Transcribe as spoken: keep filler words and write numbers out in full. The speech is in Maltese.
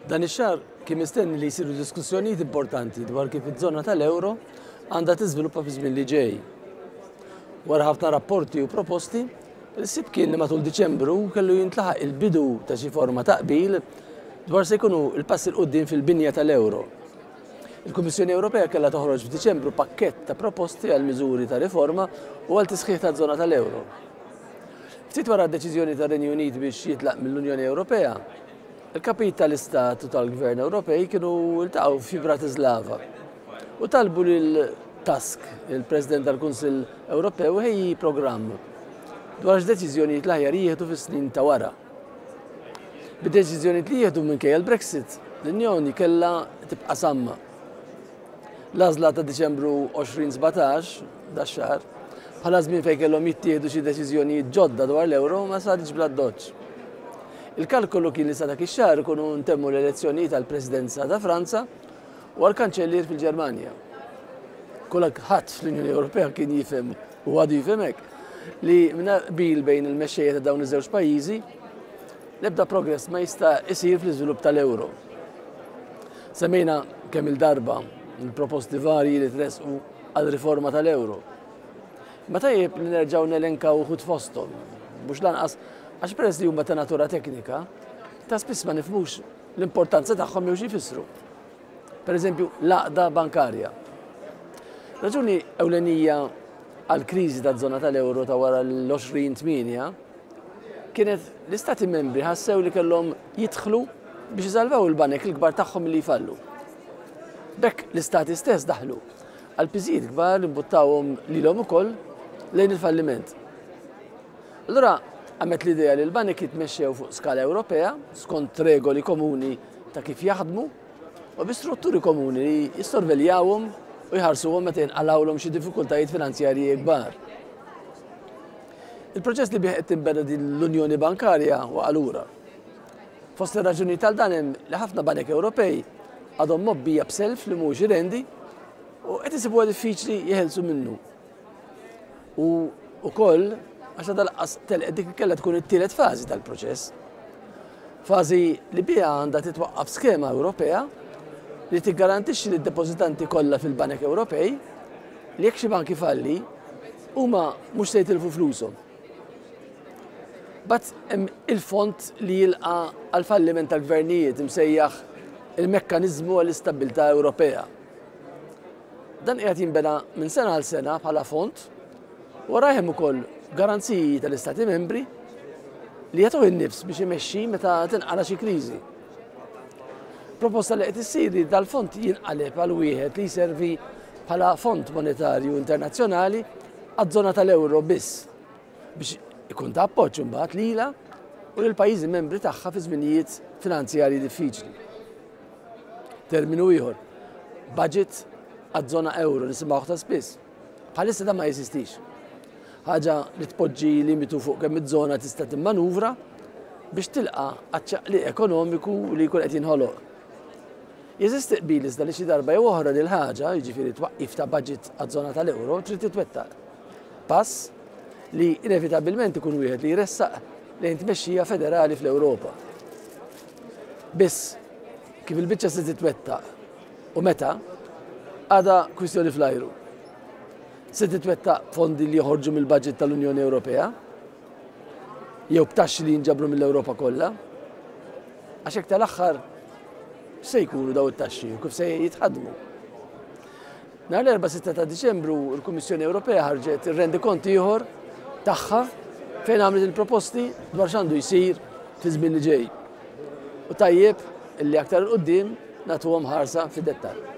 Dan ix-xahar kien mistenni li jsiru diskussjonijiet importanti dwar kif iż-żona tal-euro għandha tiżviluppa fi żmien li ġej. Wara ħafna rapporti u proposti, il-ħsieb kien li matul Diċembru kellu jintlaħaq il-bidu ta' xi forma ta' qbil dwar se jkunu il-passi 'l quddiem fil-binja tal-euro. Il-Kummissjoni Ewropea kellha toħroġ f'Diċembru pakkett ta' proposti għal miżuri ta' riforma u għal tisħiħ ta' żona tal-euro. Ftit wara d-deċiżjoni tar-Renju Unit biex jitlaq mill-Unjoni Ewropea, il-kapijiet tal-Istat u tal-Gvern Ewropej kienu ltaqgħu fi Bratislava u talbu lil Tusk, il-President tal-Kunsill Ewropew, iħejji programm dwar x'deċiżjonijiet l-aħjar jieħdu fis-snin ta' wara. Bid-deċiżjonijiet li jieħdu minkejja l-Brexit, l-Unjoni kellha tibqa' samma. L-għażla ta' Diċembru elfejn u sbatax, dax-xahar, bħala żmien fejn kellhom jittieħdu xi deċiżjonijiet ġodda dwar l-euro ma saritx bl-addoċċ. Il-kalkolu kien li sa dak ix-xahar ikunu ntemmu l-elezzjonijiet għall-Presidenza ta' Franza u għall-Kanċellier fil-Ġermanja. Kulħadd fl-Unjoni Ewropea kien jifhem u għadu jifhem hekk li mingħajr qbil bejn il-mexxejja ta' dawn iż-żewġ pajjiżi l-ebda progress ma jista' isir fl-iżvilupp tal-euro. Semmejna kemm il-darba il-proposti varji li tresqu għal riforma tal-euro. Ma tajjeb li nerġgħu nelenkaw uħud fosthom, mhux lanqas għax peress li huma ta' natura teknika, ta' spiss ma nifhmux l-importanza tagħhom jew xi jfissru. Per eżempju, l-għaqda bankarja. Raġuni ewlenija għal kriżi ta' żona tal-euro ta' wara l-għoxrin tmienja kienet l-istati membri ħassew li kellhom jidħlu biex isalvaw il-banek il-kbar tagħhom li jfallu. B'hekk l-istati stess daħlu għal piżijiet kbar li mbuttawhom lilhom ukoll lejn il-falliment. Allura qamet l-idea li l-banek jitmexxew fuq skala Ewropea skont regoli komuni ta' kif jaħdmu u bi strutturi komuni li jissorveljawhom u jħarsuhom meta jinqalgħulhom xi diffikultajiet finanzjarji kbar. Il-proċess li bih qed tinbeda din l-Unjoni Bankarja waqa' lura. Fost ir-raġuni tal dan hemm li ħafna banek Ewropej għadhom mgħobbija b'self li mhux irendi u qed isibuha diffiċli jeħelsu minnu. U ukoll għax lanqas telqet dik kellha tkun it-tielet fażi tal-proċess. Fażi li biha għandha titwaqqaf skema Ewropea li tiggarantixxi lid-depożitanti kollha fil-banek Ewropej li jekk xi bank ifalli huma mhux se jitilfu flushom. But hemm il-fond li jilqa għal falliment tal-gvernijiet, imsejjaħ il-Mekkanizmu għall-Istabbiltà Ewropea. Dan qiegħed jinbena minn sena għal sena bħala fond wara hemm ukoll garanziji tal-Istati membri li jagħtuh in-nifs biex imexxi meta tinqala xi kriżi. Proposta li qed issir li dal-fond jinqaleb għal wieħed li jservi bħala fond monetarju internazzjonali għaż-żona tal-euro biss biex ikun ta' appoġġ imbagħad lilha u lil pajjiżi membri tagħha fi żminijiet finanzjarji diffiċli. Terminu ieħor, budget għaż-żona euro, nisimgħu ta' spiss. Bħalissa da ma jeżistix. Ħaġa li tpoġġi limitu fuq kemm iż-żona tista' timmanuvra biex tilqa' għaċ-ċaqliq ekonomiku li jkun qed jinħoloq. Jeżisti qbil iżda li xi darba jew oħra lil ħaġa, jiġifieri twaqqif ta' budget għaż-żona tal-euro, trid titwettaq. Pass li inevitabilment ikun wieħed li jressaq lejn tmexxija federali fl-Ewropa. Biss kif il-biċċa se titwettaq u meta għadha kwistjoni fl-ajru. Se titwettaq fondi li joħorġu mill-budget tal-Unjoni Ewropea jew b'taxxi li jinġabru mill-Ewropa kollha? Għax hekk tal-aħħar, se jkunu daw it-taxxi u kif se jitħadmu? Nhar l-Erbgħa sitta ta' Diċembru l-Kummissjoni Ewropea ħarġet ir-rendikont ieħor tagħha fejn għamlet il-proposti dwar x'għandu jsir fi żmien li ġej. U tajjeb illi aktar 'il quddiem nagħtuhom ħarsa fid-dettall.